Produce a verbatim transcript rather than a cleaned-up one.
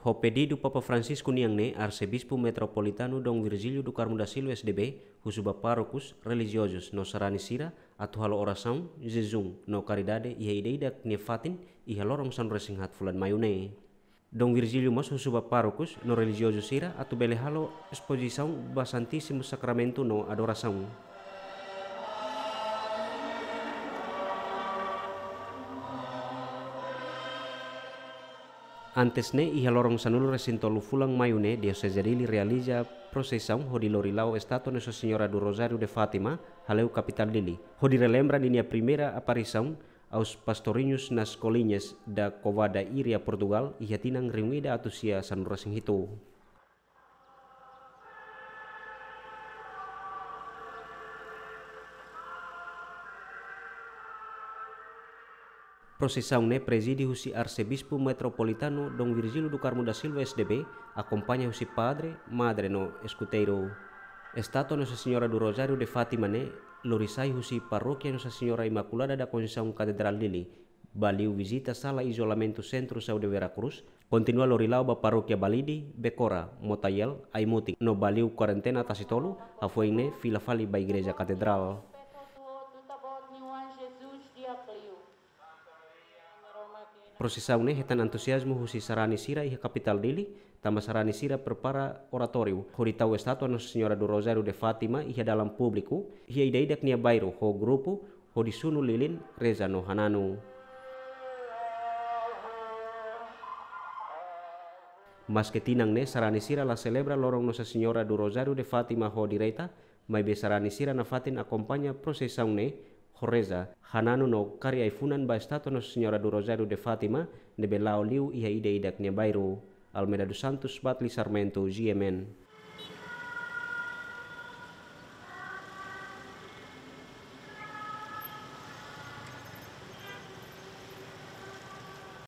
Ho pedidu Papa Francisco nian ne'e, Arsebispu Metropolitanu Dom Virgílio do Carmo da Silva S D B husu ba párokus, relijiozus no sarani sira atu halo orasaun, jejún no karidade iha ida-idak nia fatin iha loron sanulu-resin-haat fulan Maiu ne'e. Dom Virgílio mós husu ba párokus no relijiozu sira atu bele halo espozisaun ba Santísimu Sakramentu no adorasaun. Antes ne'e, iha loron sanulu-resin-tolu fulan Maiu ne'e, Dioseze Dili realiza prosesaun hodi lori la'o estátua Nossa Senhora do Rosário de Fátima, hale'u kapitál Dili, hodi relembra ninia primeira aparisaun aos pastorinhos nas colinas da Cova da Íria, Portugal, iha tinan rihun ida atus sia sanulu-resin-hitu. Prosesaun ne'e prezide husi Arsebispu Metropolitanu Dom Virgílio do Carmo da Silva S D B, akompaña husi padre, madre no eskuteiru. Estátua Nossa Senhora do Rosário de Fátima ne'e lori sai husi Parókia Nossa Senhora Imaculada da Conceição Katedrál Dili, ba liu vizita sala izolamentu Centro Saúde Vera Cruz, kontinua lori la'o ba Parókia Balide, Becora, Motael, Aimutin, no ba liu kuarentena Tasitolu, hafoin ne'e fila fali ba Igreja Katedrál. Prosesaun ne'e hetan entuziazmu husi sarani sira iha kapitál Dili, tanba sarani sira prepara oratóriu hodi tau estátua Nossa Senhora do Rosário de Fátima iha dalan públiku, iha ida-idak nia bairru ho grupu, hodi sunu lilin, reza no hananu. Maske tinan ne'e sarani sira la selebra loron Nossa Senhora do Rosário de Fátima ho direta, maibé sarani sira nafatin akompaña prosesaun ne'e ho reza, hananu no kari ai-funan ba estátua Nossa Senhora do Rosário de Fátima ne'ebé la'o liu iha ida-idak nia bairru. Almeida dos Santos, Batli Sarmento, G M N.